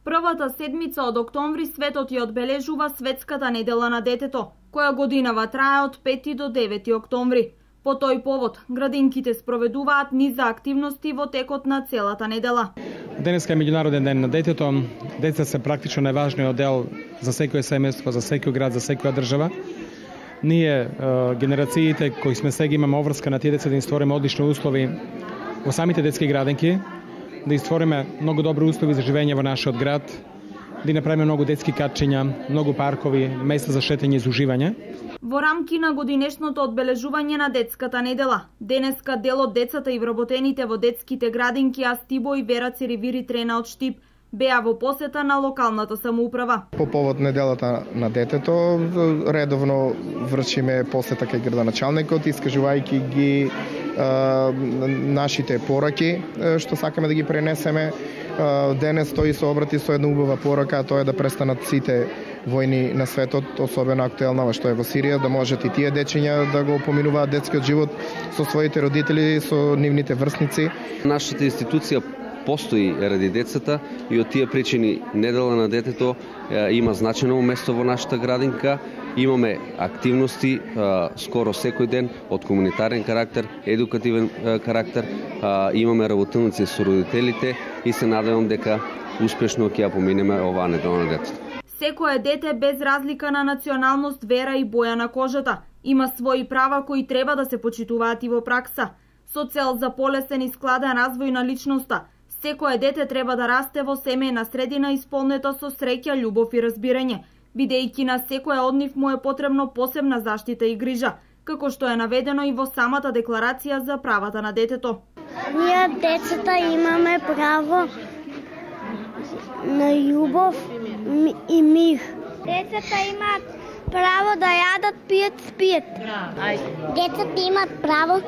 Првата седмица од октомври светот ја одбележува Светската недела на детето, која годинава трае од 5 до 9 октомври. По тој повод, градинките спроведуваат низа активности во текот на целата недела. Денеска е меѓународен ден на детето. Деца се практично најважниот дел за секој семејство, за секој град, за секоја држава. Ние, генерациите кои сме сега, имаме обврска на тие деца да им створиме одлични услови во самите детски градинки, да створиме многу добри услови за живење во нашиот град, да направиме многу детски катчиња, многу паркови, места за шетање и за уживање. Во рамки на годинешното одбележување на детската недела, денеска дел од децата и вработените во детските градинки Астибо и Вера Церевири Трена од Штип беа во посета на локалната самоуправа. По повод неделата на детето, редовно вршиме посета кај градоначалникот, искажувајќи ги нашите пораки, што сакаме да ги пренесеме. Денес тој се обрати со една убава порака, а тоа е да престанат сите војни на светот, особено актуелна што е во Сирија, да можат и тие дечиња да го поминуваат детскиот живот со своите родители, со нивните врсници. Нашата институција постои ради децата и од тие причини недела на детето има значено место во нашата градинка. Имаме активности скоро секој ден од комунитарен карактер, едукативен карактер. Имаме работилници со родителите и се надевам дека успешно ќе ја поминеме оваа недела на детето. Секое дете без разлика на националност, вера и боја на кожата има своји права кои треба да се почитуваат и во пракса. Со цел за полесен и складен развој на личноста, секое дете треба да расте во семејна средина исполнета со среќа, љубов и разбирање, бидејќи на секоја од нив му е потребно посебна заштита и грижа, како што е наведено и во самата декларација за правата на детето. Ние децата имаме право на љубов и мир. Децата имаат право да јадат, пијат, спијат. Децата имаат право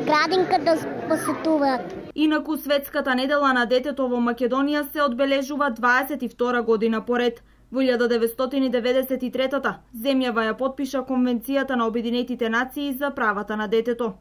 градинка да посетуваат. Инаку Светската недела на детето во Македонија се одбележува 22 година поред. Во 1993 земјава ја потпиша Конвенцијата на Обединетите нации за правата на детето.